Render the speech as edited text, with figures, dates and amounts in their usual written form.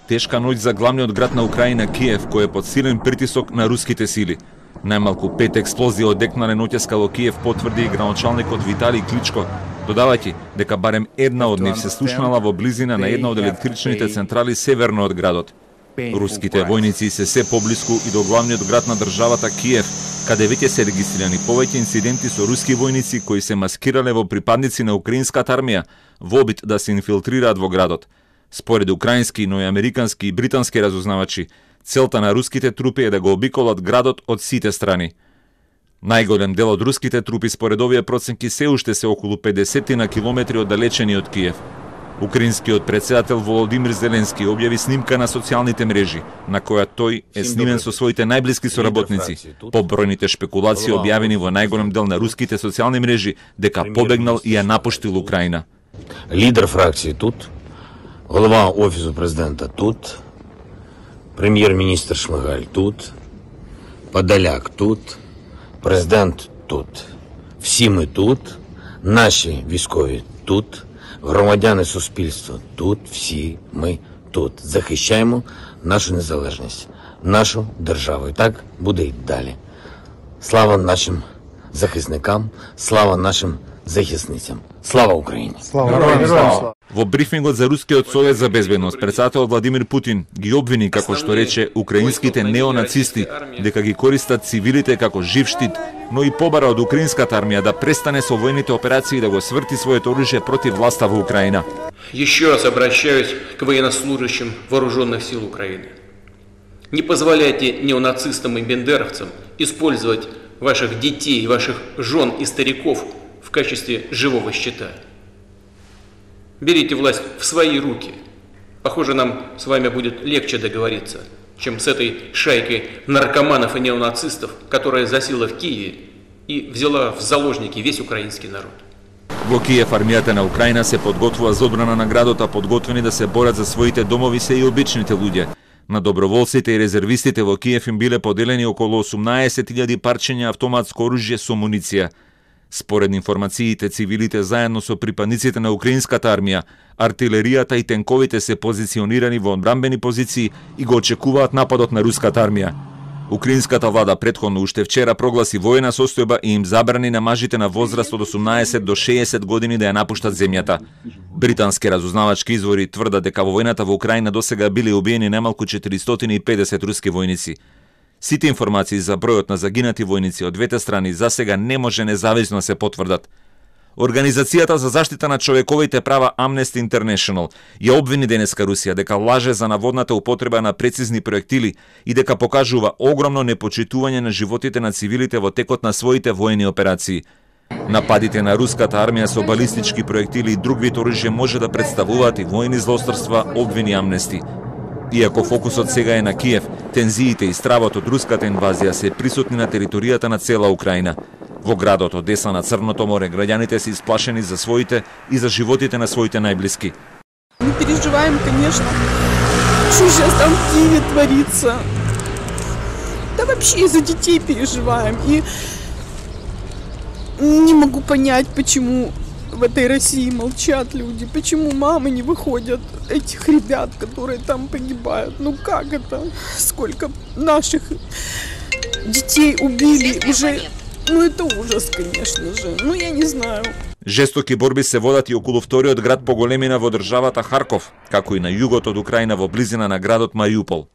Тешка ноќ за главниот град на Украина Киев, кој е под силен притисок на руските сили. Најмалку 5 експлозии одекнале ноќеска во Киев, потврди и градоначалникот Виталий Кличко, додавајќи дека барем една од нив се слушнала во близина на една од електричните централи северно од градот. Руските војници се поблиску и до главниот град на државата Киев, каде веќе се регистрирани повеќе инциденти со руски војници кои се маскирале во припадници на украинската армија во обид да се инфилтрираат во градот. Според украински, но и американски и британски разузнавачи, целта на руските трупи е да го обиколат градот од сите страни. Најголем дел од руските трупи според овие проценки се уште се околу 50 на километри оддалечени од Киев. Украинскиот претседател Володимир Зеленски објави снимка на социјалните мрежи, на која тој е снимен со своите најблиски соработници, по бројните шпекулации објавени во најголем дел на руските социјални мрежи дека побегнал и ја напуштил Украина. Лидер фракции тут, голова офису президента тут, премьер-министр Шмыгаль тут, Подоляк тут, президент тут. Всі ми тут, наші військові тут, громадяни суспільства тут, всі ми тут. Захищаємо нашу незалежність, нашу державу. І так буде й далі. Слава нашим захисникам, слава нашим захисницям. Слава Україні! Слава! Во брифингот за Рускиот совет за безбедност, претседателот Владимир Путин ги обвини, како што рече, украинските неонацисти, дека ги користат цивилите како жив штит, но и побара од украинската армија да престане со војните операции и да го сврти своето оружје против власта во Украина. Еще раз обращаюсь к военнослужащим вооруженных сил Украины. Не позволяйте неонацистам и бендеровцам использовать ваших детей, ваших жен и стариков в качестве живого щита. Берите власть в свои руки. Похоже, нам с вами будет легче договориться, чем с этой шайкой наркоманов и неонацистов, которая засела в Киеве и взяла в заложники весь украинский народ. Во Киев армијата на Украина се подготвува за одбрана на градот, а подготвени да се борат за своите домови се и обичните луѓе. На доброволците и резервистите во Киев им биле поделени околу 18.000 парчења автоматско оружје со муниција. Според информациите, цивилите заедно со припадниците на украинската армија, артилеријата и тенковите се позиционирани во одбранбени позиции и го очекуваат нападот на руската армија. Украинската влада претходно уште вчера прогласи воена состојба и им забрани на мажите на возраст од 18 до 60 години да ја напуштат земјата. Британски разузнавачки извори тврдат дека во војната во Украина досега биле убиени најмалку 450 руски војници. Сите информации за бројот на загинати војници од двете страни засега не може независно да се потврдат. Организацијата за заштита на човековите права Amnesty International ја обвини денеска Русија дека лаже за наводната употреба на прецизни проектили и дека покажува огромно непочитување на животите на цивилите во текот на своите воени операции. Нападите на руската армија со балистички проектили и друг вид оружје може да представуваат и воени злосторства, обвини Amnesty. Иако фокусот сега е на Киев, тензиите и стравот од руската инвазија се присутни на територијата на цела Украина. Во градот Одеса на Црното море граѓаните се исплашени за своите и за животите на своите најблиски. Мы переживаем, конечно, что сейчас там в Киеве творится. Да вообще и за детей переживаем. И не могу понять, почему в этой России молчат люди, почему мамы не выходят этих ребят, которые там погибают. Ну как это? Сколько наших детей убили уже... Ну это ужас, конечно же. Ну я не знаю. Жестоки борби се водат и околу вториот град по големина во државата Харков, како и на југот од Украина во близина на градот Мариупол.